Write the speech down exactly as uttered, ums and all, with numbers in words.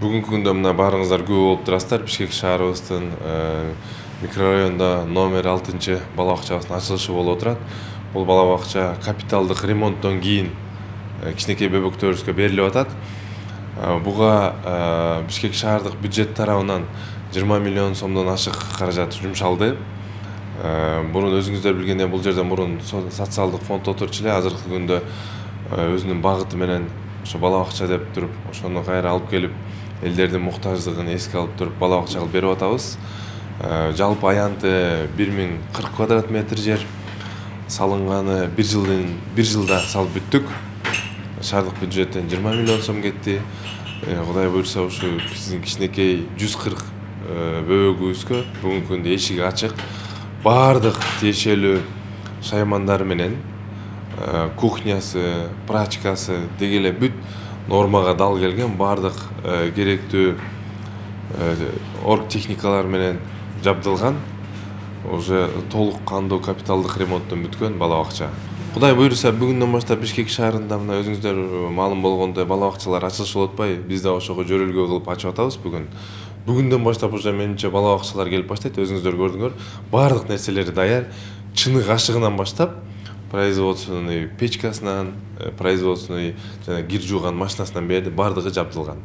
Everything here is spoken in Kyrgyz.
Бүгүнкү күндө мына баарыңыздар күбө болуп турасыздар. Бишкек шаарыбыздын микрорайонунда номер алтынчы бала бакчабыздын ачылышы болуп отурат. Бул бала бакча капиталдык ремонттон кийин кичинекей бөбөктөрүбүзгө берилип атат. Буга Бишкек шаардык бюджет тарабынан жыйырма миллион сомдон ашык каражат жумшалды. Мурун өзүңүздөр билгендей бул жерде мурун социалдык фонд отурчу эле, азыркы күндө өзүнүн багыты менен ошо бала бакча деп туруп, ошону кайра алып келип, элдердин муктаждыгын эске алып туруп бала бакча кылып берип атабыз. Жалпы аянты бир миң кырк квадрат метр жер, салынганы бир жылдын бир жылда салып бүттүк. Шаардык бюджеттен жыйырма миллион сом кетти. Кудай буйрса ушу биздин кичинекей жүз кырк бөбөгүбүзгө бүгүнкү күндө эшиги ачык. Баардык тиешелүү шаймандары менен кухнясы, прачкасы деги эле бүт нормага дал келген, баардык керектүү орг техникалар менен жабдылган, уже толук кандуу капиталдык ремонттон бүткөн бала бакча. Кудай буйрса бүгүндөн баштап Бишкек шаарында мына өзүңүздөр маалым болгондой бала бакчалар ачылышы болуп атпайбы? Биз да ошого жөрөлгө кылып ачып атабыз бүгүн. Бүгүндөн баштап уже менимче бала бакчалар келип баштайт. Өзүңүздөр көрдүңөр, баардык нерселери даяр. Чынык ашыгынан баштап, производственный печкасынан, производственный жана кир жууган машинасынан бери баардыгы жабдылган.